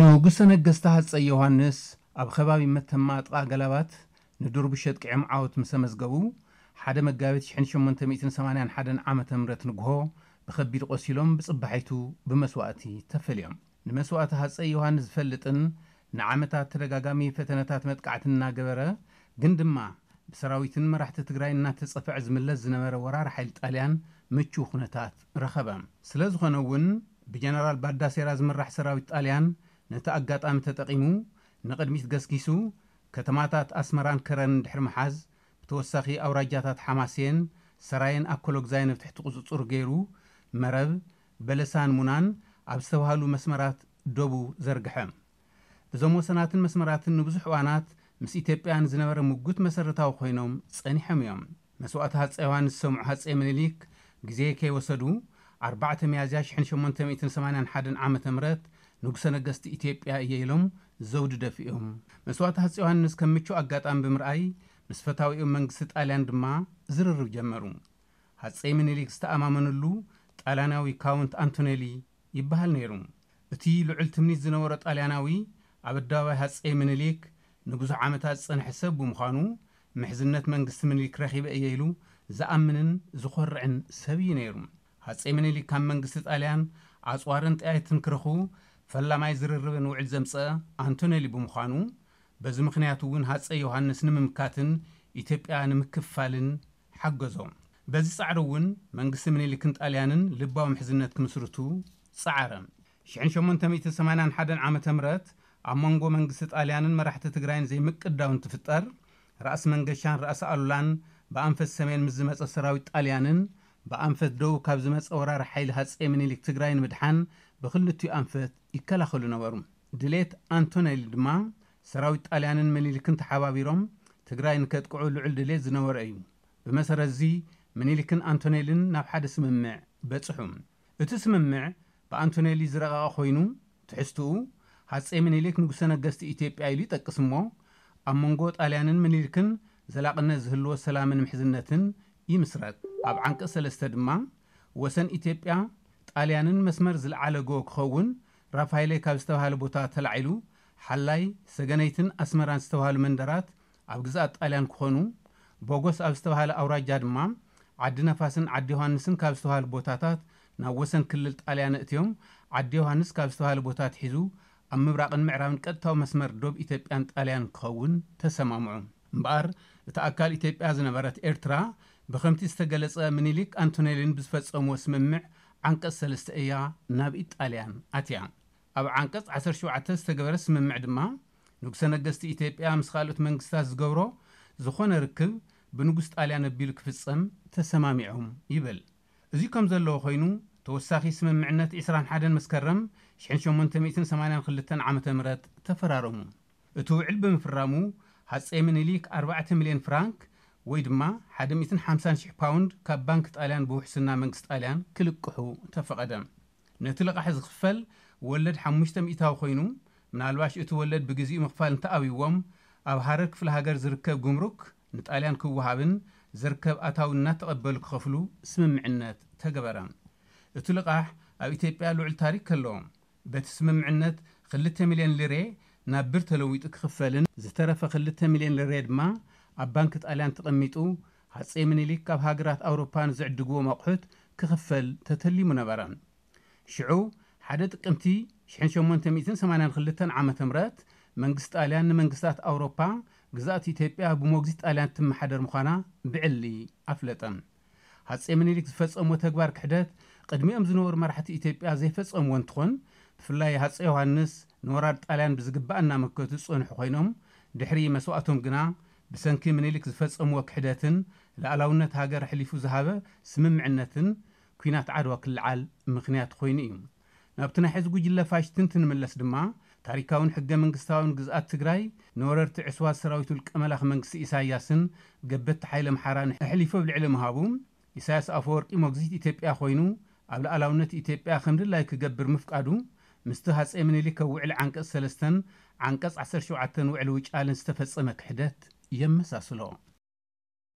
ንጉሰ ነገስት ሃፀይ ዮሃንስ ኣብ ከባቢ መተማ ጥቓ ገላባት ንዱር ብሸጥቂዖም ዓወት ምስ ኣመዝገቡ፣ ሓደ መጋቢት ሽሕን ሸሞንተ ሚእትን ሰማንያን ሓደን ዓመተ ምህረት ንግሆ ብኸቢድ ቆሲሎም ብፅባሒቱ ብመስዋእቲ ተፈልዮም። ንመስዋእቲ ሃፀይ ዮሃንስ ዝፈልጥን ንዓመታት ተደጋጋሚ ፈተነታት መጥቃዕቲ እናገበረ ግን ድማ ብሰራዊትን መራሕቲ ትግራይ እናተፀፍዐ ዝምለስ ዝነበረ ወራሪ ሓይሊ ጣልያን ምቹው ኩነታት ረኸበ። ስለ ዝኾነ እውን ብጀነራል ባዳሴራ ዝምራሕ ሰራዊት ጣልያን ነቲ ኣጋጣሚ ተጠቒሙ ንቕድሚት ገስጊሱ ከተማታት ኣስመራን ከረንን ድሕሪ ምሓዝ ብተወሳኺ ኣውራጃታት ሓማሴን፣ ሰራየን ኣኮሎግዛይን ኣብ ትሕቲ ቁፅፅር ገይሩ መረብ፣ በለሳን ሙናን ኣብ ዝተባህሉ መስመራት ደቡ ዘርግሐ። እዞም ወሰናትን መስመራትን ንብዙሕ እዋናት ምስ ኢትዮጵያ ንዝነበረ ምጉት መሰረታዊ ኮይኖም ጸኒሖም እዮም። መስዋእቲ ሃፀይ ዮሃንስ ዝሰምዑ ሃፀይ ምኒልክ ግዜ ከይወሰዱ ኣርባዕተ ሚያዝያ ሽሕን ሸሞንተ ሚእትን ሰማንያን ሓደን ዓመተ ምህረት ንጉሰ ነገስት ኢትዮጵያ እየ ኢሎም ዘውዲ ደፊኦም። መስዋእቲ ሃፀይ ዮሃንስ ከም ምቹእ ኣጋጣሚ ብምርኣይ ምስ ፈታዊኦም መንግስቲ ጣልያን ድማ ዝርርብ ጀመሩ። ሃፀይ ምኒልክ ዝተኣማመንሉ ጣልያናዊ ካውንት ኣንቶኔሊ ይበሃል ነይሩ። እቲ ልዑል ትምኒት ዝነበሮ ጣልያናዊ ኣብ ኣደባባይ ሃፀይ ምኒልክ ንብዙሕ ዓመታት ዝጸንሐ ሰብ ብምዃኑ ምሕዝነት መንግስቲ ምኒልክ ረኺበ እየ ኢሉ ዝኣምንን ዝኾርዕን ሰብ እዩ ነይሩ። ሃፀይ ምኒልክ ካብ መንግስቲ ጣልያን ኣጽዋርን ጠያይትን ክረኽቡ ፈላማይ ዝርርብን ውዕል ዘምጸአ ኣንቶኔሊ ብምዃኑ በዚ ምኽንያት እውን ሃፀይ ዮሃንስ ንምምካትን ኢትዮጵያ ንምክፋልን ሓገዞ። በዚ ጻዕሪ እውን መንግስቲ ምኒልክን ጣልያንን ልባዊ ምሕዝነት ክምስርቱ ጸዓረ። ሽሕን ሸሞንተ ሚእትን ሰማንያን ሓደን ዓመተ ምህረት ኣብ መንጎ መንግስቲ ጣልያንን መራሕቲ ትግራይን ዘይምቅዳው እንትፍጠር ራእሲ መንገሻን ራእሲ ኣሉላን ብኣንፈት ሰሜን ምስ ዝመጸ ሰራዊት ጣልያንን ብኣንፈት ደቡብ ካብ ዝመጸ ወራሪ ሓይሊ ሃፀይ ምኒልክ ትግራይ ንምድሓን ብክልቲኡ ኣንፈት ይከላኸሉ ነበሩ። ድሌት ኣንቶኔሊ ድማ ሰራዊት ጣልያንን ምኒልክን ተሓባቢሮም ትግራይ ንከጥቅዑ ልዑል ድሌት ዝነበሮ እዩ። ብመሰረት እዚ ምኒልክን ኣንቶኔልን ናብ ሓደ ስምምዕ በጽሑ። እቲ ስምምዕ ብኣንቶኔሊ ዝረቐቐ ኮይኑ ትሕዝትኡ ሃፀይ ምኒልክ ንጉሰ ነገስቲ ኢትዮጵያ ኢሉ ይጠቅስ እሞ ኣብ መንጎ ጣልያንን ምኒልክን ዘላቕነት ዝህልዎ ሰላምን ምሕዝነትን ይምስረት። ኣብ ዓንቀፅ ሰለስተ ድማ ወሰን ኢትዮጵያ ጣልያንን መስመር ዝለዓለ ጎ ክኸውን ራፋይሌ ካብ ዝተባሃለ ቦታ ተላዒሉ ሓላይ ሰገነይትን ኣስመራን ዝተባሃሉ መንደራት ኣብ ግዝኣት ጣልያን ክኾኑ ቦጎስ ኣብ ዝተባሃለ ኣውራጃ ድማ ዓዲ ነፋስን ዓዲ ዮሃንስን ካብ ዝተባሃሉ ቦታታት ናብ ወሰን ክልል ጣልያን እትዮም ዓዲ ዮሃንስ ካብ ዝተባሃለ ቦታ ትሒዙ ኣብ ምብራቕን ምዕራብን ቀጥታዊ መስመር ዶብ ኢትዮጵያን ጣልያን ክኸውን ተሰማምዑ። እምበኣር እቲ ኣካል ኢትዮጵያ ዝነበረት ኤርትራ ብኸምቲ ዝተገለጸ ምኒልክ ኣንቶኔልን ብዝፈጸምዎ ስምምዕ ዓንቀጽ ሰለስተ እያ ናብ ኢጣልያን ኣትያ። ኣብ ዓንቀጽ ዓሰርተ ሸውዓተ ዝተገበረ ስምምዕ ድማ ንጉሰ ነገስቲ ኢትዮጵያ ምስ ካልኦት መንግስታት ዝገብሮ ዝኾነ ርክብ ብንጉስ ጣልያን ኣቢሉ ክፍጸም ተሰማሚዖም ይብል። እዚ ከም ዘለዎ ኮይኑ ተወሳኺ ስምምዕነት ዕስራን ሓደን መስከረም ሽሕን ሸሞንተ ሚእትን ሰማንያን ክልተን ዓመተ ምህረት ተፈራረሙ። እቲ ውዕል ብምፍራሙ ሃፀይ ምኒልክ ኣርባዕተ ሚልዮን ፍራንክ ወይ ድማ ሓደ ሚእትን ሓምሳን ሽሕ ፓውንድ ካብ ባንክ ጣልያን ብውሕስና መንግስቲ ጣልያን ክልቅሑ ተፈቐደ። ነቲ ልቓሕ ዝኽፈል ወለድ ሓሙሽተ ሚእታዊ ኮይኑ ምናልባሽ እቲ ወለድ ብግዚኡ ምኽፋል እንተኣብይዎም ኣብ ሃረር ክፍለ ሃገር ዝርከብ ጉምሩክ ንጣልያን ክወሃብን ዝርከብ ኣታዊ እናተቐበሉ ክኸፍሉ ስምምዕነት ተገበረ። እቲ ልቓሕ ኣብ ኢትዮጵያ ልዑል ታሪክ ከለዎ በቲ ስምምዕነት ክልተ ሚልዮን ሊሬ ናብ ብር ተለዊጡ ክኽፈልን ዝተረፈ ክልተ ሚልዮን ሊሬ ድማ ኣብ ባንክ ጣልያን ተቐሚጡ ሃፀይ ምኒልክ ካብ ሃገራት ኣውሮፓ ንዝዕድግዎም ኣቑሑት ክኽፈል ተተሊሙ ነበረ። ሽዑ ሓደ ጥቅምቲ ሽሕን ሸሞንተ ሚእትን ሰማንያን ክልተን ዓመተ ምህረት መንግስቲ ጣልያን ንመንግስታት ኣውሮፓ ግዝኣት ኢትዮጵያ ብሞግዚት ጣልያን ትመሓደር ምዃና ብዕሊ ኣፍለጠ። ሃፀይ ምኒልክ ዝፈጸምዎ ተግባር ክሕደት ቅድሚኦም ዝነበሩ መራሕቲ ኢትዮጵያ ዘይፈጸምዎ እንትኾን ብፍላይ ሃፀይ ዮሃንስ ንወራር ጣልያን ብዝግባእ እናመከቱ ዝጸንሑ ኮይኖም ድሕሪ መስዋእቶም ግና ብሰንኪ ምኒልክ ዝፈጸምዎ ክሕደትን ልኣላውነት ሃገር ኣሕሊፉ ዝሃበ ስምምዕነትን ኲናት ዓድዋ ክልዓል ምኽንያት ኮይኑ እዩ። ናብቲ ናይ ሕዚ ጉጅለ ፋሽስትን ትንምለስ ድማ ታሪካውን ሕገ መንግስታውን ግዝኣት ትግራይ ንወረርቲ ዕስዋት ሰራዊት ውልቀ መላኺ መንግስቲ ኢሳያስን ገበቲ ሓይለ ምሓራን ኣሕሊፉ ኣብ ልዕሊ ምሃቡ ኢሳያስ ኣፈወርቂ ሞግዚት ኢትዮጵያ ኮይኑ ኣብ ልኣላውነት ኢትዮጵያ ከም ድላይ ክገብር ምፍቃዱ ምስቲ ሃፀይ ምኒልክ ኣብ ውዕሊ ዓንቀፅ ሰለስተን ዓንቀፅ ዓሰርተ ሸውዓተን ውዕሊ ውጫልን ዝተፈፀመ ክሕደት የመሳስሎ።